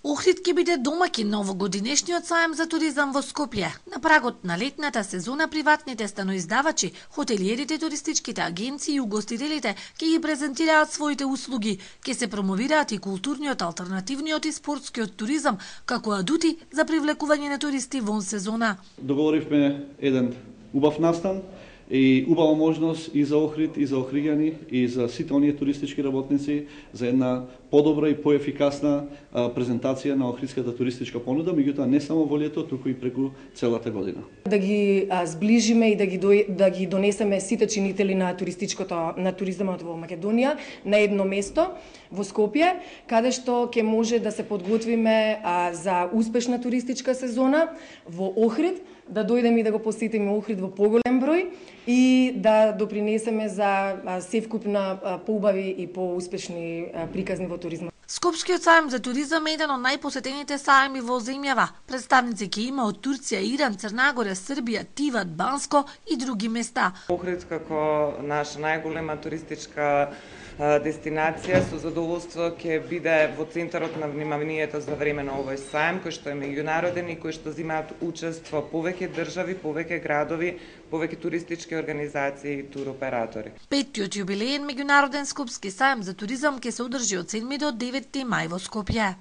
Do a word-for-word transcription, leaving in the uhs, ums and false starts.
Охрид ќе биде домаќин на овогодинешниот сајм за туризам во Скопје. На прагот на летната сезона приватните станоиздавачи, хотелиерите, туристичките агенции и угостителите ќе ги презентираат своите услуги, ќе се промовираат и културниот, алтернативниот и спортскиот туризам како адути за привлекување на туристи вон сезона. Договоривме еден убав настан и убава можност и за Охрид, и за охриѓани, и за сите оние туристички работници за една подобра и поефикасна презентација на охридската туристичка понуда, меѓутоа не само во лето, туку и преку целата година. Да ги а, сближиме и да ги до, да ги донесеме сите чинители на туристичкото на туризмот во Македонија на едно место во Скопје, каде што ќе може да се подготвиме а, за успешна туристичка сезона во Охрид, да дојдеме и да го посетиме Охрид во поголем број и да допринесеме за севкупна поубави и поуспешни приказни во туризма. Скопскиот сајм за туризам е еден од најпосетените сајми во земјава. Представници ќе има од Турција, Иран, Црнагора, Србија, Тиват, Банско и други места. Охрид како наша најголема туристичка дестинација со задоволство ќе биде во центарот на вниманието за време на овој сајм, кој што е меѓународен и кој што земаат учество повеќе држави, повеќе градови, повеќе туристички организации и туроператори. Петтиот јубилеен меѓународен скопски сајм за туризам ќе се одржи од седми до деветти мај во Скопје.